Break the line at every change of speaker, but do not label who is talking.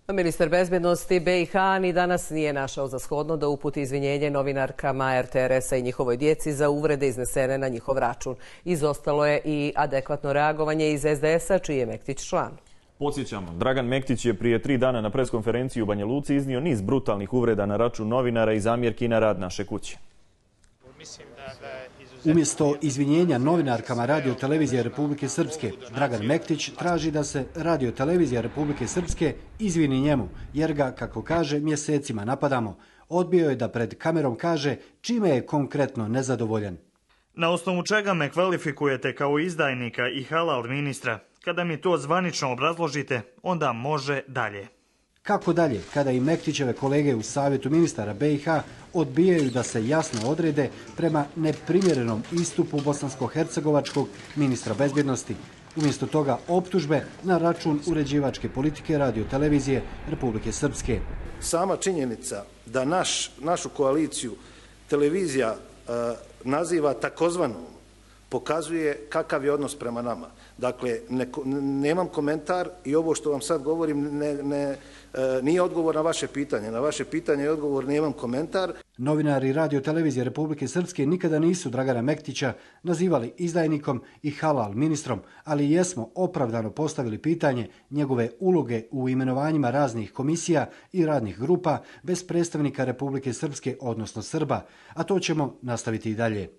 Ministar bezbednosti BiH ni danas nije našao za shodno da uputi izvinjenje novinarkama RTRS-a i njihovoj djeci za uvrede iznesene na njihov račun. Izostalo je i adekvatno reagovanje iz SDS-a, čiji je Mektić član.
Podsjećamo, Dragan Mektić je prije 3 dana na preskonferenciji u Banja Luci iznio niz brutalnih uvreda na račun novinara i zamjerki na rad naše kuće.
Umjesto izvinjenja novinarkama Radio-televizije Republike Srpske, Dragan Mektić traži da se Radio-televizija Republike Srpske izvini njemu, jer ga, kako kaže, mjesecima napadamo. Odbio je da pred kamerom kaže čime je konkretno nezadovoljan.
Na osnovu čega me kvalifikujete kao izdajnika i halal ministra? Kada mi to zvanično obrazložite, onda može dalje.
Kako dalje, kada i Mektićeve kolege u Savjetu ministara BiH odbijaju da se jasno odrede prema neprimjerenom istupu bosansko-hercegovačkog ministra bezbjednosti. Umjesto toga optužbe na račun uređivačke politike Radio-televizije Republike Srpske.
Sama činjenica da našu koaliciju televizija naziva takozvanom pokazuje kakav je odnos prema nama. Dakle, nemam komentar i ovo što vam sad govorim nije odgovor na vaše pitanje. Na vaše pitanje je odgovor nemam komentar.
Novinari Radio-televizije Republike Srpske nikada nisu Dragana Mektića nazivali izdajnikom i halal ministrom, ali jesmo opravdano postavili pitanje njegove uloge u imenovanjima raznih komisija i radnih grupa bez predstavnika Republike Srpske, odnosno Srba, a to ćemo nastaviti i dalje.